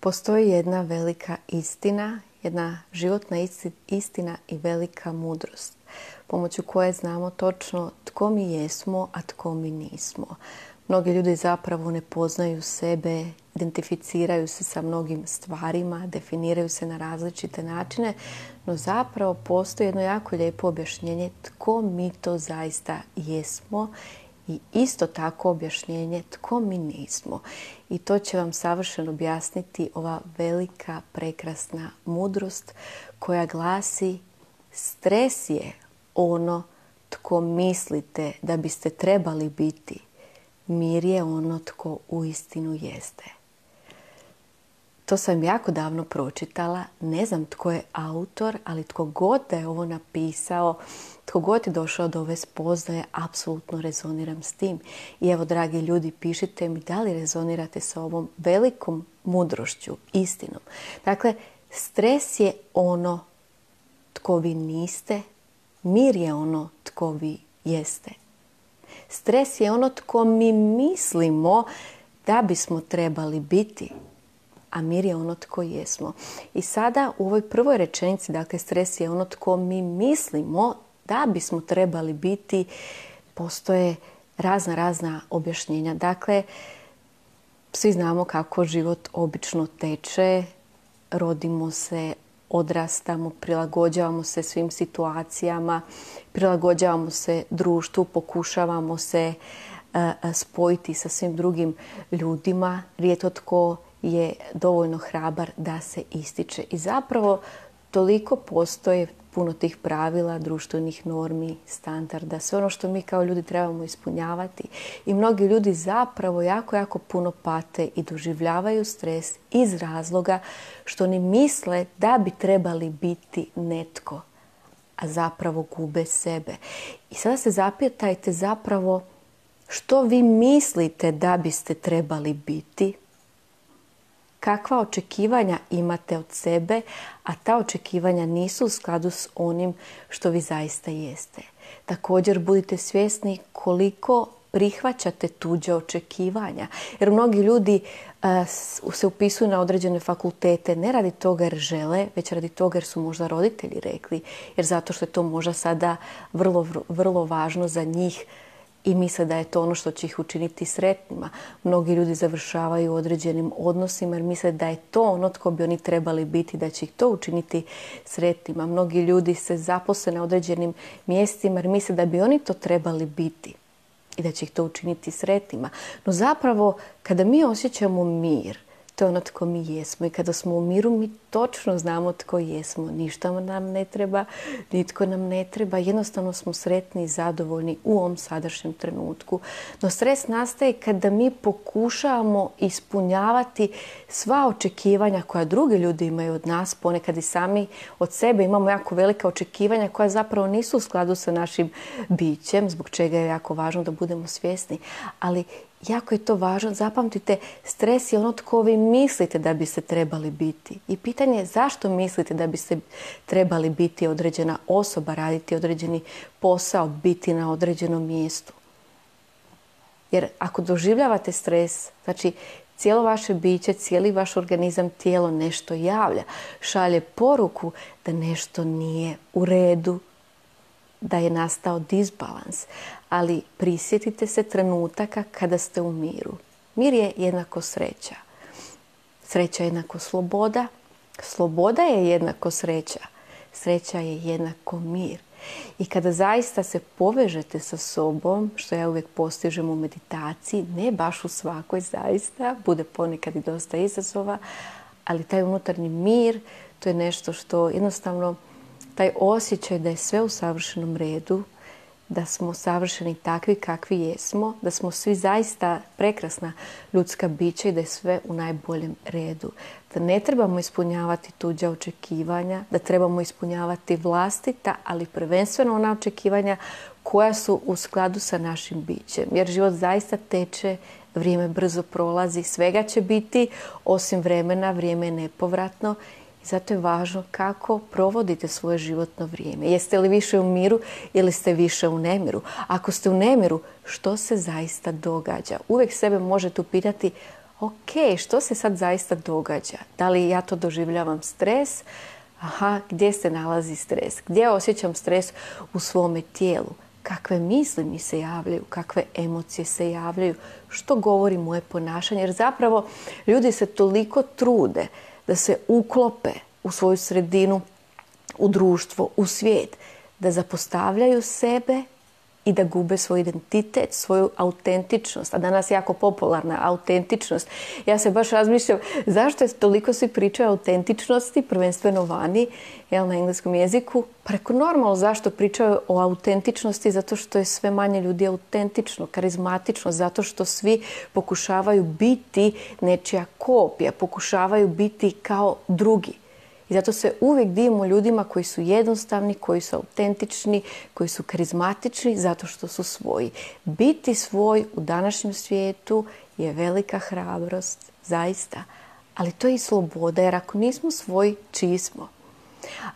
Postoji jedna velika istina, jedna životna istina i velika mudrost, pomoću koje znamo točno tko mi jesmo, a tko mi nismo. Mnogi ljudi zapravo ne poznaju sebe, identificiraju se sa mnogim stvarima, definiraju se na različite načine, no zapravo postoji jedno jako lijepo objašnjenje tko mi to zaista jesmo i isto tako objašnjenje tko mi nismo. I to će vam savršeno objasniti ova velika, prekrasna mudrost koja glasi: stres je ono tko mislite da biste trebali biti. Mir je ono tko uistinu jeste. To sam jako davno pročitala, ne znam tko je autor, ali tko god da je ovo napisao, tko god je došao do ove spoznaje, apsolutno rezoniram s tim. I evo, dragi ljudi, pišite mi da li rezonirate sa ovom velikom mudrošću, istinom. Dakle, stres je ono tko vi niste, mir je ono tko vi jeste. Stres je ono tko mi mislimo da bismo trebali biti, a mir je ono tko jesmo. I sada u ovoj prvoj rečenici, dakle, stres je ono tko mi mislimo da bismo trebali biti, postoje razna objašnjenja. Dakle, svi znamo kako život obično teče, rodimo se, odrastamo, prilagođavamo se svim situacijama, prilagođavamo se društvu, pokušavamo se spojiti sa svim drugim ljudima. Rijetko tko je dovoljno hrabar da se ističe. I zapravo toliko postoje puno tih pravila, društvenih normi, standarda, sve ono što mi kao ljudi trebamo ispunjavati. I mnogi ljudi zapravo jako puno pate i doživljavaju stres iz razloga što oni misle da bi trebali biti netko, a zapravo gube sebe. I sada se zapitajte zapravo što vi mislite da biste trebali biti, kakva očekivanja imate od sebe, a ta očekivanja nisu u skladu s onim što vi zaista jeste. Također budite svjesni koliko prihvaćate tuđe očekivanja. Jer mnogi ljudi se upisuju na određene fakultete ne radi toga jer žele, već radi toga jer su možda roditelji rekli. Jer zato što je to možda sada vrlo važno za njih i misle da je to ono što će ih učiniti sretnima. Mnogi ljudi završavaju u određenim odnosima jer misle da je to ono tko bi oni trebali biti, da će ih to učiniti sretnima. Mnogi ljudi se zaposle na određenim mjestima jer misle da bi oni to trebali biti i da će ih to učiniti sretnima. No zapravo, kada mi osjećamo mir, to je ono tko mi jesmo. I kada smo u miru, mi točno znamo tko jesmo. Ništa nam ne treba, nitko nam ne treba. Jednostavno smo sretni i zadovoljni u ovom sadašnjem trenutku. No stres nastaje kada mi pokušavamo ispunjavati sva očekivanja koja drugi ljudi imaju od nas. Ponekad i sami od sebe imamo jako velika očekivanja koja zapravo nisu u skladu sa našim bićem, zbog čega je jako važno da budemo svjesni. Ali jako je to važno. Zapamtite, stres je ono tko vi mislite da biste trebali biti. I pitanje je zašto mislite da biste trebali biti određena osoba, raditi određeni posao, biti na određenom mjestu. Jer ako doživljavate stres, znači cijelo vaše biće, cijeli vaš organizam, tijelo nešto javlja, šalje poruku da nešto nije u redu, da je nastao disbalans. Ali prisjetite se trenutaka kada ste u miru. Mir je jednako sreća. Sreća je jednako sloboda. Sloboda je jednako sreća. Sreća je jednako mir. I kada zaista se povežete sa sobom, što ja uvijek postižem u meditaciji, ne baš u svakoj zaista, bude ponekad i dosta izazova, ali taj unutarnji mir, to je nešto što jednostavno, taj osjećaj da je sve u savršenom redu, da smo savršeni takvi kakvi jesmo, da smo svi zaista prekrasna ljudska bića i da je sve u najboljem redu. Da ne trebamo ispunjavati tuđa očekivanja, da trebamo ispunjavati vlastita, ali prvenstveno ona očekivanja koja su u skladu sa našim bićem. Jer život zaista teče, vrijeme brzo prolazi, svega će biti, osim vremena, vrijeme je nepovratno. I zato je važno kako provodite svoje životno vrijeme. Jeste li više u miru ili ste više u nemiru? Ako ste u nemiru, što se zaista događa? Uvijek sebe možete upitati, ok, što se sad zaista događa? Da li ja to doživljavam stres? Aha, gdje se nalazi stres? Gdje osjećam stres u svome tijelu? Kakve misli mi se javljaju? Kakve emocije se javljaju? Što govori moje ponašanje? Jer zapravo ljudi se toliko trude da se uklope u svoju sredinu, u društvo, u svijet, da zapostavljaju sebe i da gube svoj identitet, svoju autentičnost. A danas je jako popularna autentičnost. Ja se baš razmišljam zašto je toliko svi pričaju o autentičnosti, prvenstveno vani, na engleskom jeziku. Preko normalno zašto pričaju o autentičnosti, zato što je sve manje ljudi autentično, karizmatično, zato što svi pokušavaju biti nečija kopija, pokušavaju biti kao drugi. I zato se uvijek divimo ljudima koji su jednostavni, koji su autentični, koji su karizmatični, zato što su svoji. Biti svoj u današnjem svijetu je velika hrabrost, zaista. Ali to je i sloboda, jer ako nismo svoji, čiji smo?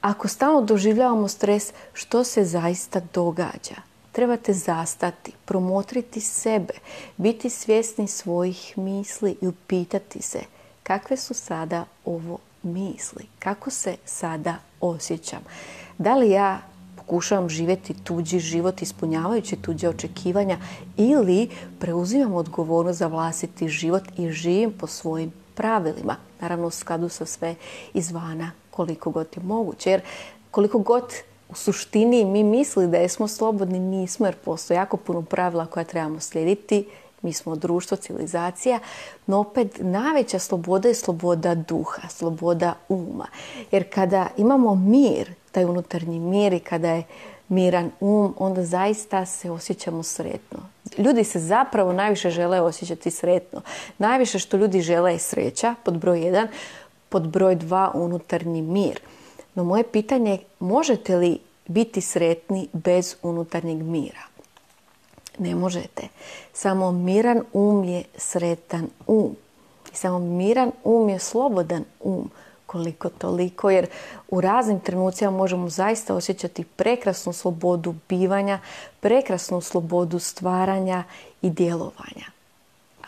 Ako stalno doživljavamo stres, što se zaista događa? Trebate zastati, promotriti sebe, biti svjesni svojih misli i upitati se kakve su sada ovo misli, kako se sada osjećam. Da li ja pokušavam živjeti tuđi život ispunjavajući tuđe očekivanja ili preuzimam odgovornost za vlastiti život i živim po svojim pravilima. Naravno u skladu sa sve izvana koliko god je moguće. Jer koliko god u suštini mi misli da smo slobodni, nismo, jer postoji jako puno pravila koja trebamo slijediti. Mi smo društvo, civilizacija, no opet najveća sloboda je sloboda duha, sloboda uma. Jer kada imamo mir, taj unutarnji mir i kada je miran onda zaista se osjećamo sretno. Ljudi se zapravo najviše žele osjećati sretno. Najviše što ljudi žele je sreća, pod broj 1, pod broj 2 unutarnji mir. No moje pitanje je, možete li biti sretni bez unutarnjeg mira? Ne možete. Samo miran je sretan I samo miran je slobodan koliko toliko, jer u raznim trenucima možemo zaista osjećati prekrasnu slobodu bivanja, prekrasnu slobodu stvaranja i djelovanja.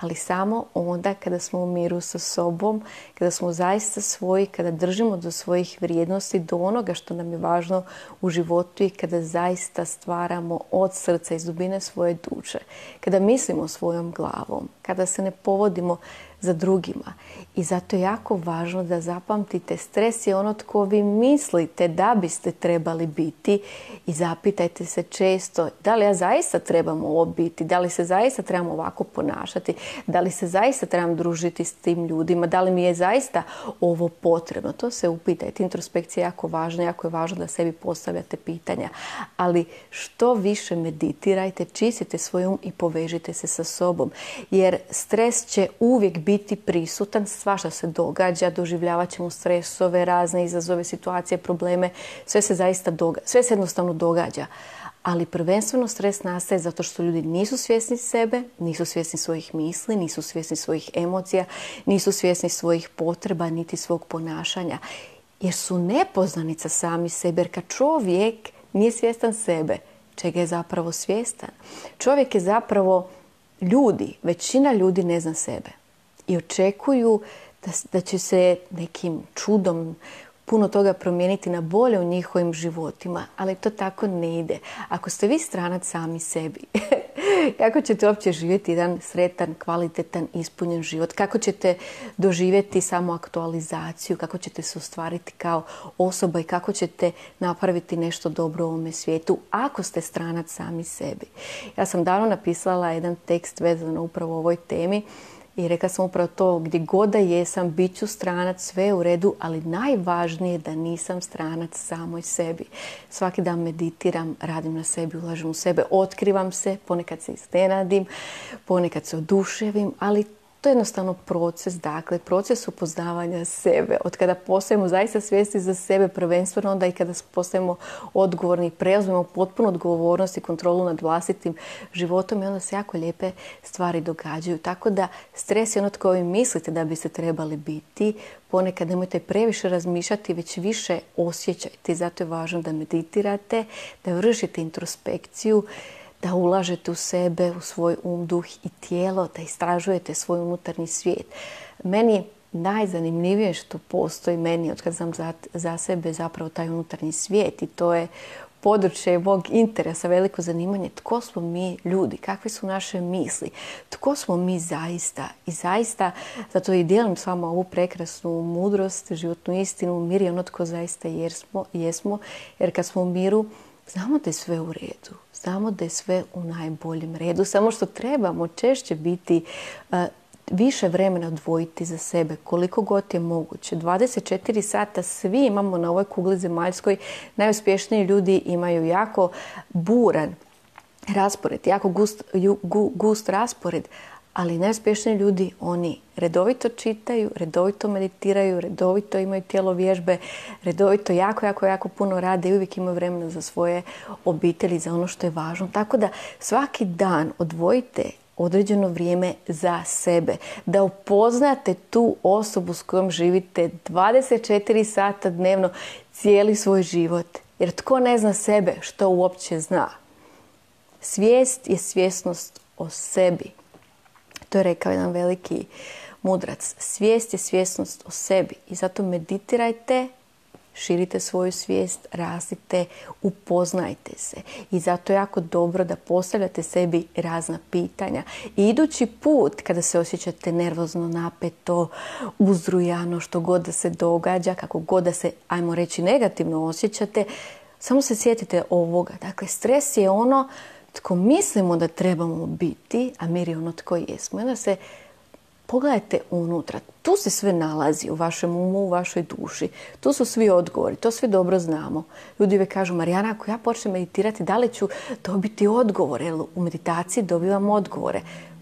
Ali samo onda kada smo u miru sa sobom, kada smo zaista svoji, kada držimo do svojih vrijednosti, do onoga što nam je važno u životu i kada zaista stvaramo od srca, iz dubine svoje duše, kada mislimo svojom glavom, kada se ne povodimo za drugima. I zato je jako važno da zapamtite, stres je ono tko vi mislite da biste trebali biti i zapitajte se često da li ja zaista trebam ovo biti, da li se zaista trebam ovako ponašati, da li se zaista trebam družiti s tim ljudima, da li mi je zaista ovo potrebno. To se upitajte. Introspekcija je jako važna, jako je važno da sebi postavljate pitanja. Ali što više meditirajte, čistite svoj i povežite se sa sobom. Jer stres će uvijek biti prisutan, svašta se događa, doživljavat ćemo stresove, razne izazove, situacije, probleme, sve se zaista događa, sve se jednostavno događa. Ali prvenstveno stres nastaje zato što ljudi nisu svjesni sebe, nisu svjesni svojih misli, nisu svjesni svojih emocija, nisu svjesni svojih potreba, niti svog ponašanja. Jer su nepoznanica sami sebe, jer kad čovjek nije svjestan sebe, čega je zapravo svjestan? Čovjek je zapravo većina ljudi ne zna sebe. I očekuju da će se nekim čudom puno toga promijeniti na bolje u njihovim životima, ali to tako ne ide. Ako ste vi stranac sami sebi, kako ćete uopće živjeti jedan sretan, kvalitetan, ispunjen život? Kako ćete doživjeti samoaktualizaciju? Kako ćete se ostvariti kao osoba i kako ćete napraviti nešto dobro u ovome svijetu ako ste stranac sami sebi? Ja sam davno napisala jedan tekst vezano upravo o ovoj temi i rekla sam upravo to, gdje god da jesam, bit ću stranac, sve je u redu, ali najvažnije je da nisam stranac samoj sebi. Svaki dan meditiram, radim na sebi, ulažem u sebe, otkrivam se, ponekad se iznenadim, ponekad se oduševim, ali to je jednostavno proces, dakle, proces upoznavanja sebe. Od kada postajemo zaista svjesni za sebe, prvenstveno onda i kada postajemo odgovorni i preuzmemo potpunu odgovornost i kontrolu nad vlastitim životom i onda se jako lijepe stvari događaju. Tako da stres je ono tko vi mislite da biste trebali biti. Ponekad nemojte previše razmišljati, već više osjećajte. Zato je važno da meditirate, da vršite introspekciju, da ulažete u sebe, u svoj duh i tijelo, da istražujete svoj unutarnji svijet. Meni najzanimljivije što postoji meni, od kad znam za sebe, zapravo taj unutarnji svijet, i to je područje mog interesa, veliko zanimanje. Tko smo mi ljudi? Kakve su naše misli? Tko smo mi zaista? I zaista, zato i dijelim s vama ovu prekrasnu mudrost, životnu istinu. Mir je ono tko zaista jesmo. Jer kad smo u miru, znamo da je sve u redu. Znamo da je sve u najboljem redu. Samo što trebamo češće biti više vremena odvojiti za sebe, koliko god je moguće. 24 sata svi imamo na ovoj kugli zemaljskoj. Najuspješniji ljudi imaju jako buran raspored, jako gust raspored, ali najuspješniji ljudi, oni redovito čitaju, redovito meditiraju, redovito imaju tijelo vježbe, redovito jako puno rade i uvijek imaju vremena za svoje obitelji, za ono što je važno. Tako da svaki dan odvojite određeno vrijeme za sebe. Da upoznate tu osobu s kojom živite 24 sata dnevno cijeli svoj život. Jer tko ne zna sebe, što uopće zna? Svijest je svjesnost o sebi. To je rekao jedan veliki mudrac. Svijest je svjesnost o sebi. I zato meditirajte, širite svoju svijest, rastite, upoznajte se. I zato je jako dobro da postavljate sebi razna pitanja. I idući put, kada se osjećate nervozno, napeto, uzrujano, što god da se događa, kako god da se, ajmo reći, negativno osjećate, samo se sjetite ovoga. Dakle, stres je ono tko mislimo da trebamo biti, a mir je ono tko jesmo. I onda se pogledajte unutra. Tu se sve nalazi u vašem umu, u vašoj duši. Tu su svi odgovori. To svi dobro znamo. Ljudi uvijek kažu, Marijana, ako ja počnem meditirati, da li ću dobiti odgovore? Jer u meditaciji dobivam odgovore.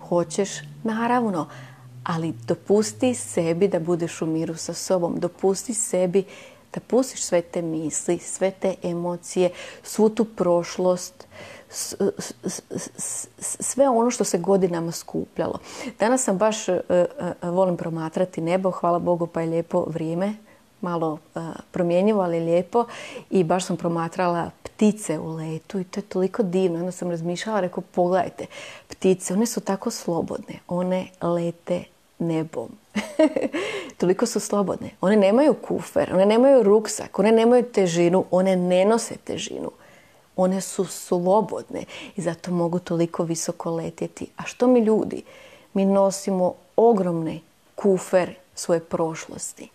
Hoćeš? Naravno. Ali dopusti sebi da budeš u miru sa sobom. Dopusti sebi da pustiš sve te misli, sve te emocije, svu tu prošlost, sve ono što se godinama skupljalo. Danas sam baš, volim promatrati nebo, hvala Bogu, pa je lijepo vrijeme, malo promjenjivo, ali lijepo, i baš sam promatrala ptice u letu i to je toliko divno. Onda sam razmišljala, rekao, pogledajte, ptice, one su tako slobodne, one lete nebom. Toliko su slobodne. One nemaju kufer, one nemaju ruksak, one nemaju težinu, one ne nose težinu. One su slobodne i zato mogu toliko visoko letjeti. A što mi ljudi? Mi nosimo ogromne kufer svoje prošlosti.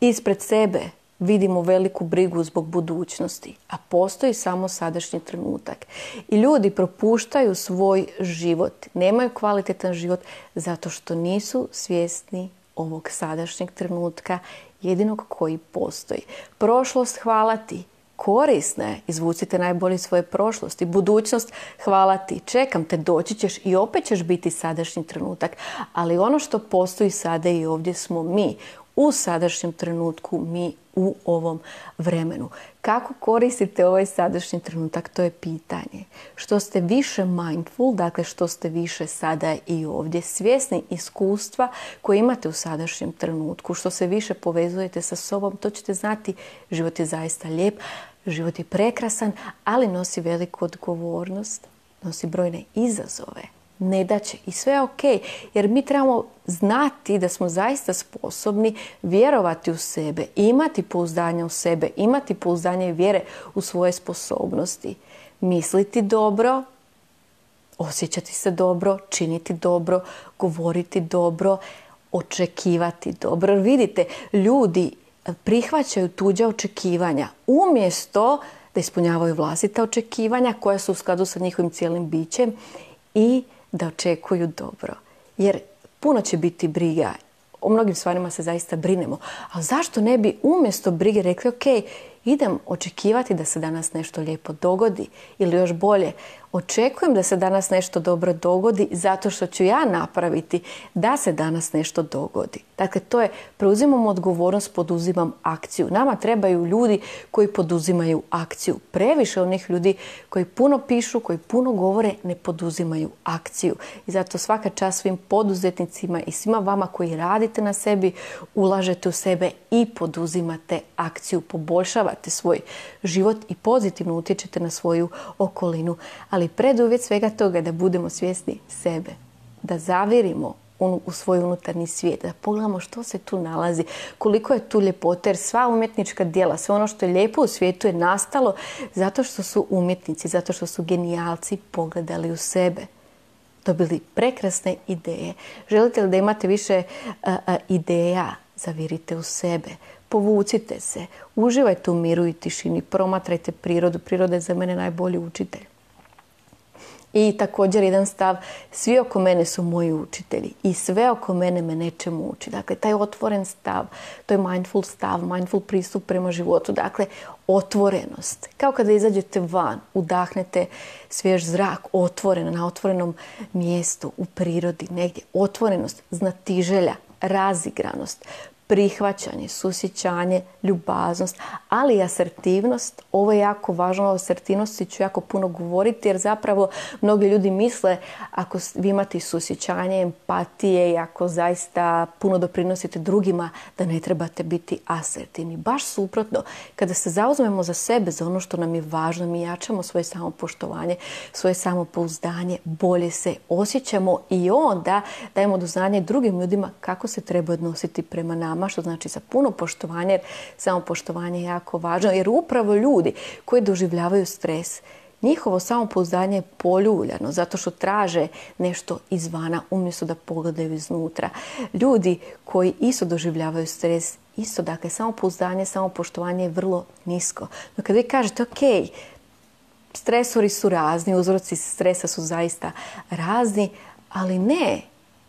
Ispred sebe vidimo veliku brigu zbog budućnosti, a postoji samo sadašnji trenutak. I ljudi propuštaju svoj život, nemaju kvalitetan život zato što nisu svjesni ovog sadašnjeg trenutka, jedinog koji postoji. Prošlost, hvala ti, korisna je, izvucite najbolje svoje prošlosti. Budućnost, hvala ti, čekam te, doći ćeš i opet ćeš biti sadašnji trenutak. Ali ono što postoji sada i ovdje smo mi, u sadašnjem trenutku, mi u ovom vremenu. Kako koristite ovaj sadašnji trenutak, to je pitanje. Što ste više mindful, dakle što ste više sada i ovdje, svjesni iskustva koje imate u sadašnjem trenutku, što se više povezujete sa sobom, to ćete znati, život je zaista lijep, život je prekrasan, ali nosi veliku odgovornost, nosi brojne izazove, nedaće i sve je ok, jer mi trebamo znati da smo zaista sposobni vjerovati u sebe, imati pouzdanje u sebe, imati pouzdanje i vjere u svoje sposobnosti, misliti dobro, osjećati se dobro, činiti dobro, govoriti dobro, očekivati dobro. Vidite, ljudi prihvaćaju tuđa očekivanja umjesto da ispunjavaju vlastita očekivanja koja su u skladu sa njihovim cijelim bićem i da očekuju dobro. Jer puno će biti briga. O mnogim stvarima se zaista brinemo. Ali zašto ne bi umjesto brige rekli, ok, idem očekivati da se danas nešto lijepo dogodi, ili još bolje, očekujem da se danas nešto dobro dogodi zato što ću ja napraviti da se danas nešto dogodi. Dakle, to je, preuzimam odgovornost, poduzimam akciju. Nama trebaju ljudi koji poduzimaju akciju. Previše onih ljudi koji puno pišu, koji puno govore, ne poduzimaju akciju. I zato svaka čast svim poduzetnicima i svima vama koji radite na sebi, ulažete u sebe i poduzimate akciju, poboljšavate poboljšavate svoj život i pozitivno utječete na svoju okolinu. Ali preduvjet svega toga je da budemo svjesni sebe, da zavirimo u svoj unutarnji svijet, da pogledamo što se tu nalazi, koliko je tu ljepote, jer sva umjetnička djela, sve ono što je lijepo u svijetu je nastalo zato što su umjetnici, zato što su genijalci pogledali u sebe, dobili prekrasne ideje. Želite li da imate više ideja? Zavirite u sebe, povucite se, uživajte u miru i tišini, promatrajte prirodu. Priroda je za mene najbolji učitelj. I također jedan stav, svi oko mene su moji učitelji i sve oko mene me nečemu uči. Dakle, taj otvoren stav, to je mindful stav, mindful pristup prema životu. Dakle, otvorenost. Kao kada izađete van, udahnete svjež zrak, otvoren, na otvorenom mjestu, u prirodi, negdje. Otvorenost, znatiželja, razigranost, prihvaćanje, susjećanje, ljubaznost, ali i asertivnost. Ovo je jako važno, o asertivnosti ću jako puno govoriti jer zapravo mnogi ljudi misle ako vi imate susjećanje, empatije i ako zaista puno doprinosite drugima da ne trebate biti asertivni. Baš suprotno, kada se zauzmemo za sebe, za ono što nam je važno, mi jačamo svoje samopoštovanje, svoje samopouzdanje, bolje se osjećamo i onda dajemo do znanja drugim ljudima kako se treba odnositi prema nama, što znači sa puno poštovanja, jer samopoštovanje je jako važno, jer upravo ljudi koji doživljavaju stres, njihovo samopouzdanje je poljuljano zato što traže nešto izvana umjesto da pogledaju iznutra. Ljudi koji isto doživljavaju stres, isto, dakle, samopouzdanje, samopoštovanje je vrlo nisko. No kad vi kažete, ok, stresori su razni, uzroci stresa su zaista razni, ali ne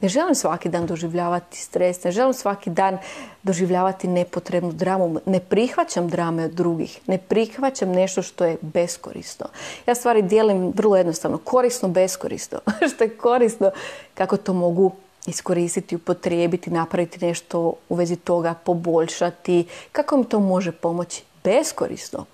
želim svaki dan doživljavati stres, ne želim svaki dan doživljavati nepotrebnu dramu, ne prihvaćam drame od drugih, ne prihvaćam nešto što je beskorisno. Ja stvari dijelim vrlo jednostavno, korisno, beskorisno. Što je korisno, kako to mogu iskoristiti, upotrijebiti, napraviti nešto u vezi toga, poboljšati, kako mi to može pomoći. Beskorisno.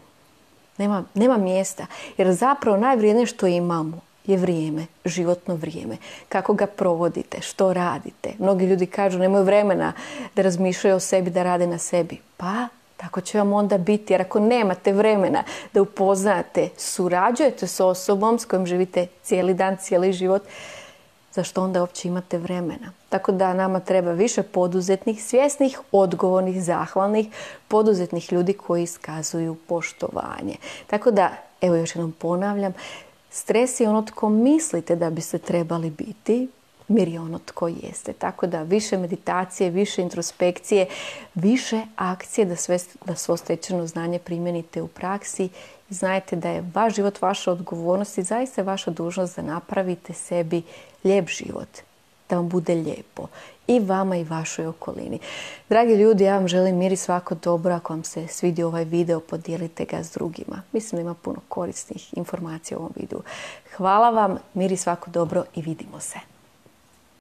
Nema mjesta, jer zapravo najvrijednije što imamo je vrijeme, životno vrijeme. Kako ga provodite, što radite. Mnogi ljudi kažu nemaju vremena da razmišljaju o sebi, da rade na sebi. Pa, tako će vam onda biti. Jer ako nemate vremena da upoznate, surađujete s osobom s kojom živite cijeli dan, cijeli život, zašto onda uopće imate vremena? Tako da nama treba više poduzetnih, svjesnih, odgovornih, zahvalnih, poduzetnih ljudi koji iskazuju poštovanje. Tako da, evo još jednom ponavljam, stres je ono tko mislite da biste trebali biti, mir je ono tko jeste. Tako da više meditacije, više introspekcije, više akcije da svo stečeno znanje primijenite u praksi. I znajte da je vaš život vaša odgovornost i zaista je vaša dužnost da napravite sebi lijep život. Da vam bude lijepo. I vama i vašoj okolini. Dragi ljudi, ja vam želim mir i svako dobro. Ako vam se svidio ovaj video, podijelite ga s drugima. Mislim da ima puno korisnih informacija u ovom videu. Hvala vam, mir i svako dobro i vidimo se.